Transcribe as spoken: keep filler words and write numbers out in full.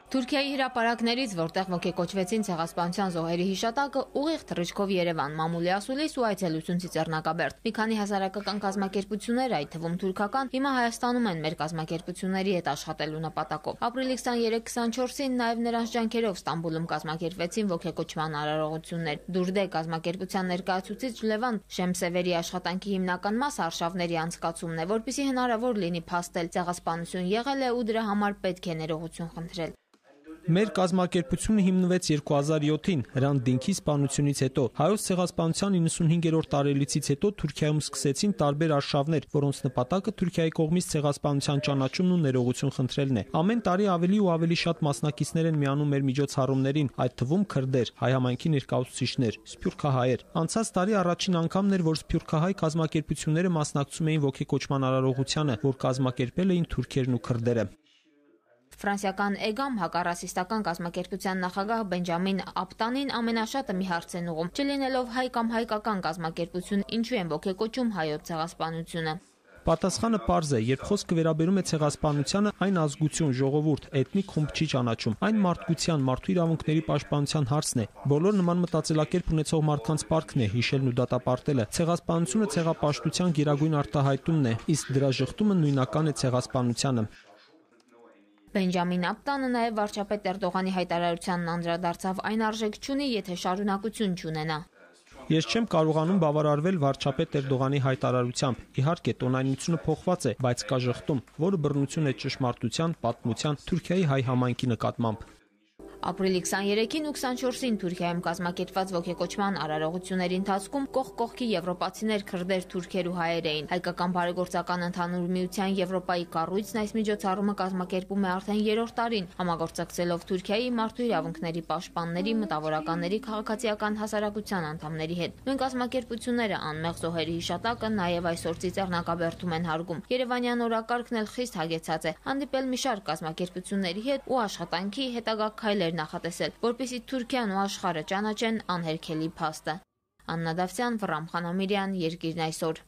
Թուրքիայի հրապարակներից, որտեղ ոգեկոչվեցին ցեղասպանության զոհերի հիշատակը, ուղիղ թռիչքով Երևան, մամուլի ասուլիս ու այցելություն Ծիծեռնակաբերդ։ Մի քանի հասարակական կազմակերպություններ, այդ թվում թուրքական, հիմա Հայաստանում են մեր կազմակերպությունների հետ աշխատելու նպատակով։ Ապրիլի քսաներեք քսանչորսին նաև նրանց ջանքերով Ստամբուլում կազմակերպվեցին ոգեկոչման արարողություններ։ Դուրդե կազմակերպության ներկայացուցիչ Լևան Շեմսևերի աշխատանքի հիմնական մասը արշավների անցկացումն է, որպեսզի հնարավոր լինի փաստել ցեղասպանություն եղել է ու դրա համար պետք է ներողություն խնդրել։ Մեր կազմակերպությունը հիմնվեց երկու հազար յոթին Հրանտ Դինքի սպանությունից հետո։ Հայոց ցեղասպանության իննսունհինգերորդ տարելիցից հետո Թուրքիայում սկսեցին տարբեր արշավներ, որոնց նպատակը Թուրքիայի կողմից ցեղասպանության ճանաչումն ու ներողություն խնդրելն է։ Ամեն տարի ավելի ու ավելի շատ մասնակիցներ են միանում մեր միջոցառումներին, այդ թվում քրդեր, հայ համայնքի ներկայացուցիչներ, սփյուռքահայեր։ Անցած տարի առաջին անգամն էր, որ սփյուռքահայ կազմակերպությունները մասնակցում էին ոգեկոչման արարողությանը, որ կազմակերպել էին թուրքերն ու քրդերը։ Ֆրանսիական Էգամ հակառասիստական կազմակերպության նախագահ Բենջամին Ապտանին ամենաշատը մի հարց են ուղում. չլինելով հայ կամ հայկական կազմակերպություն, ինչու են ոգեկոչում հայոց ցեղասպանությունը։ Պատասխանը պարզ է, երբ խոսքը վերաբերում է ցեղասպանությանը, այն ազգություն, ժողովուրդ, էթնիկ խումբ չի ճանաչում։ Այն մարդկության, մարդու իրավունքների պաշտպանության հարցն է։ Բոլոր նման մտածելակերպ ունեցող մարդկանց պարտքն է հիշելն ու դատապարտելը։ Ցեղասպանությունը ցեղապաշտության գերագույն արտահայտումն է, իսկ դրա ժխտումը նույնական է ցեղասպանությանը։ Բենջամին Ապտանը նաև վարչապետ Էրդողանի հայտարարությանն անդրադարձավ, այն արժեք չունի, եթե շարունակություն չունենա։ Ես չեմ կարողանում բավարարվել վարչապետ Էրդողանի հայտարարությամբ։ Իհարկե, տոնայնությունը փոխված է, բայց կա ժխտում, որը բռնություն է ճշմարտության, պատմության, Թուրքիայի հայ համայնքի նկատմամբ։ Ապրիլի քսաներեքին ու քսանչորսին Թուրքիայում կազմակերպված ոգեկոչման արարողությունների ընթացքում կողք կողքի եվրոպացիներ, քրդեր, թուրքեր ու հայեր էին։ Հայկական բարեգործական ընդհանուր միության Եվրոպայի կառույցն այս միջոցառումը կազմակերպում է արդեն երրորդ տարին, համագործակցելով Թուրքիայի մարդու իրավունքների պաշտպանների, մտավորականների, քաղաքացիական հասարակության անդամների հետ։ Նույն կազմակերպությունները անմեղ զոհերի հիշատակը նաև այսօր Ծիծեռնակաբերդում են հարգում։ Երևանյան օրակարգն էլ խիստ հագեցած է։ Հանդիպել մի շարք կազմակերպությունների հետ ու աշխատանքի հետագա քայլեր նախատեսել, որպեսզի Թուրքիան ու աշխարհը ճանաչեն անհերքելի փաստը։ Աննա Դավթյան, Վռամ Խանամիրյան, Երկիրն այսօր։